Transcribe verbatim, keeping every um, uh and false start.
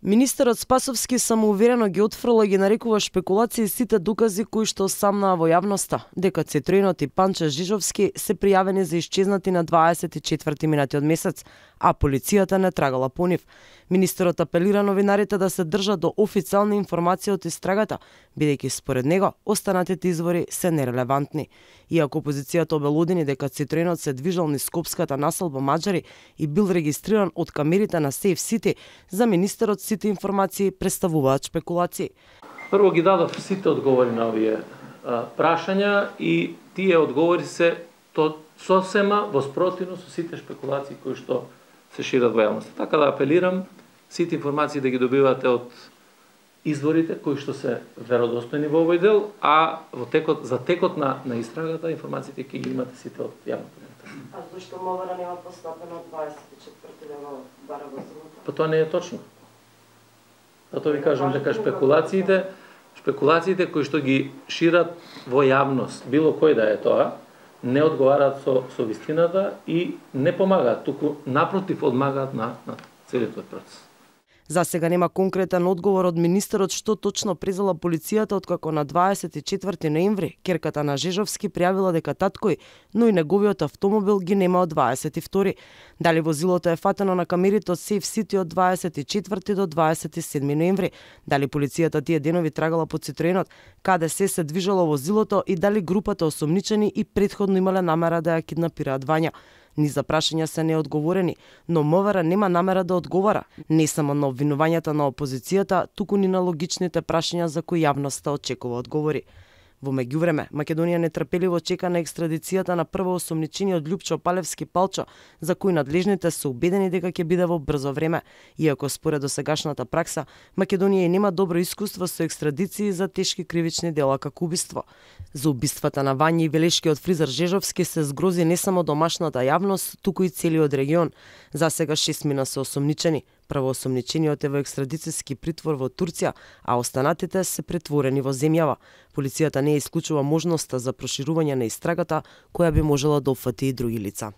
Министерот Спасовски самоуверено ги отфрла и ги нарекува шпекулации сите докази кои што самнаа во јавноста, дека Цитроенот и Панче Жижовски се пријавени за исчезнати на дваесет и четврти минатиот месец, а полицијата не трагала по нив. Министерот апелира новинарите да се држат до официјални информации од истрагата, бидејќи според него останатите извори се нерелевантни. Иако опозицијата обелодени дека Цитроенот се движел низ скопската населба Маџари и бил регистриран од камерите на Сейф Сити, за министерот сите информации представуваат шпекулации. Прво ги дадов сите одговори на овие а, прашања и тие одговори се то сосема во спротивно со сите шпекулации кои што се шират во јавноста. Така да апелирам сите информации да ги добивате од изворите кои што се веродостојни во овој дел, а во текот за текот на на истрагата информациите ќе ги имате сите од јавната. А зашто Мовара нема постапено дваесет и четврти ден во бара во Злата? Па тоа не е точно. Затоа ви кажам дека шпекулациите, шпекулациите кои што ги шират во јавност, било кој да е тоа, не одговараат со со вистината и не помагаат, туку напротив одмагаат на на целиот тој процес. За сега нема конкретен одговор од министерот што точно презела полицијата откако на дваесет и четврти ноември ќерката на Жежовски пријавила дека таткој, но и неговиот автомобил ги нема од дваесет и втори. Дали возилото е фатено на камерите од Сейф Сити од дваесет и четврти до дваесет и седми ноември, дали полицијата тие денови трагала по Цитроенот, каде се се движело возилото и дали групата осомничени и претходно имале намера да ја киднапираат Вања. Ни за прашања се неодговорени, но Мовара нема намера да одговара, не само на обвинувањата на опозицијата, туку ни на логичните прашања за кои јавноста очекува одговори. Во меѓувреме, Македонија нетрпеливо чека на екстрадицијата на прво осомничениот Љупчо Палевски Палчо, за кој надлежните се убедени дека ќе биде во брзо време, иако според досегашната пракса, Македонија и нема добро искуство со екстрадиции за тешки кривични дела како убиство. За убиствата на Вања и велешкиот фризер Жежовски се згрози не само домашната јавност, туку и целиот регион. За сега шестмина се осомничени. Првоосомничениот е во екстрадицијски притвор во Турција, а останатите се претворени во земјава. Полицијата не исклучува можноста за проширување на истрагата, која би можела да опфати и други лица.